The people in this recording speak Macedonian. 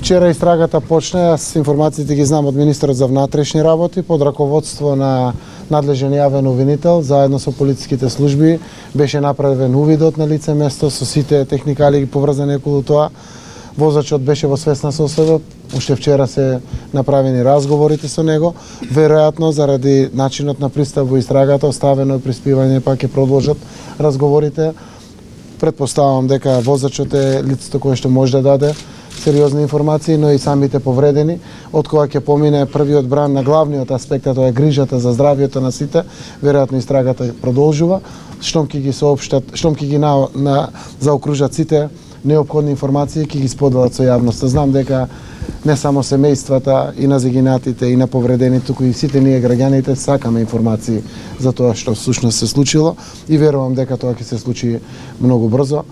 Вчера истрагата почна, јас информациите ги знам од министерот за внатрешни работи под раководство на надлежен јавен обвинител, заедно со полициските служби беше направен увидот на лице место со сите техникали поврзани околу тоа. Возачот беше во свесна состојба, уште вчера се направени разговорите со него, веројатно заради начинот на пристап во истрагата оставено е приспивање, па ќе продолжат разговорите. Предпоставувам дека возачот е лицето кое што може да даде сериозни информации, но и самите повредени, од кога ќе помине првиот бран на главниот аспект, тоа е грижата за здравјето на сите, веројатно истрагата продолжува, штом ќе ги соопштат, штом ќе ги заокружат сите неопходни информации, ќе ги споделат со јавноста. Знам дека не само семејствата и на загинатите и на повредените, туку и сите ние граѓаните сакаме информации за тоа што всушност се случило и верувам дека тоа ќе се случи многу брзо.